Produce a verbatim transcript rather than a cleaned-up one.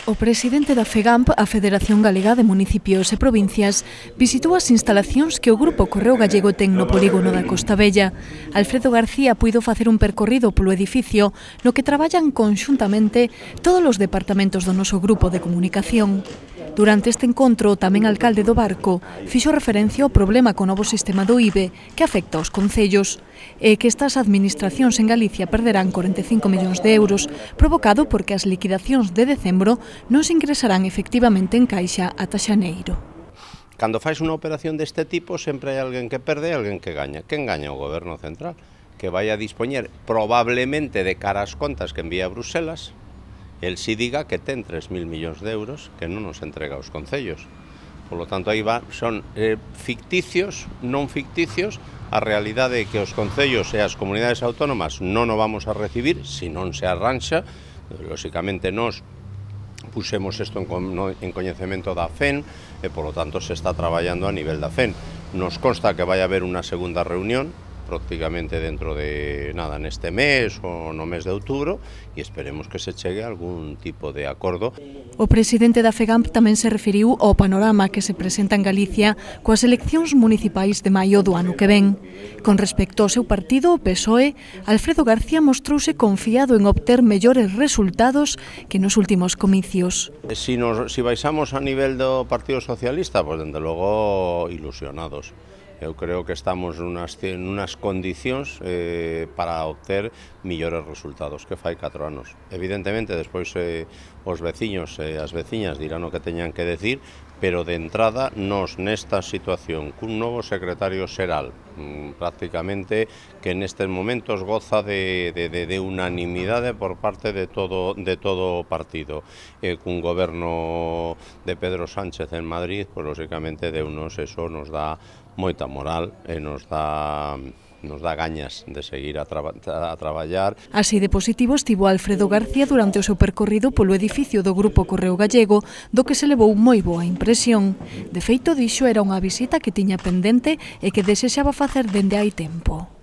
O presidente da FEGAMP, a Federación Galega de Municipios e Provincias, visitou as instalacións que o Grupo Correo Gallego ten no polígono da Costa Vella. Alfredo García puido facer un percorrido polo edificio no que traballan conxuntamente todos os departamentos do noso grupo de comunicación. Durante este encontro, tamén o alcalde do Barco fixo referencia ao problema co novo sistema do I B E que afecta aos concellos e que estas administracións en Galicia perderán corenta e cinco millóns de euros provocado porque as liquidacións de decembro non se ingresarán efectivamente en caixa ata xaneiro. Cando fais unha operación deste tipo, sempre hai alguén que perde e alguén que gaña. Quen gaña? O Goberno Central, que vai a dispoñer probablemente de cara ás contas que envía a Bruselas, el si diga que ten tres mil millóns de euros que non nos entrega aos concellos. Por lo tanto, aí va, son eh, ficticios, non ficticios, a realidade é que os concellos e as comunidades autónomas non o vamos a recibir se non se arranxa. Lóxicamente, nós puxemos isto en coñecemento da F E N e, por lo tanto, se está traballando a nivel da F E N. Nos consta que vai haber unha segunda reunión prácticamente dentro de nada neste mes ou no mes de outubro e esperemos que se chegue a algún tipo de acordo. O presidente da FEGAMP tamén se referiu ao panorama que se presenta en Galicia coas eleccións municipais de maio do ano que ven. Con respecto ao seu partido, o P S O E, Alfredo García mostrouse confiado en obter mellores resultados que nos últimos comicios. Si, nos, si baixamos a nivel do Partido Socialista, pues dende logo ilusionados. Eu creo que estamos nunas, nunas condicións eh, para obter millores resultados que fai catro anos. Evidentemente, despois eh, os veciños e eh, as veciñas dirán o que teñan que decir, pero de entrada, nos nesta situación, cun novo secretario xeral, mmm, prácticamente que nestes momentos goza de, de, de, de unanimidade por parte de todo, de todo o partido, eh, cun goberno de Pedro Sánchez en Madrid, pues, lóxicamente, de unos eso nos dá moita moral e nos dá nos dá gañas de seguir a, traba, a traballar. Así de positivo estivo Alfredo García durante o seu percorrido polo edificio do Grupo Correo Gallego, do que se levou moi boa impresión. De feito, dixo era unha visita que tiña pendente e que desexaba facer dende hai tempo.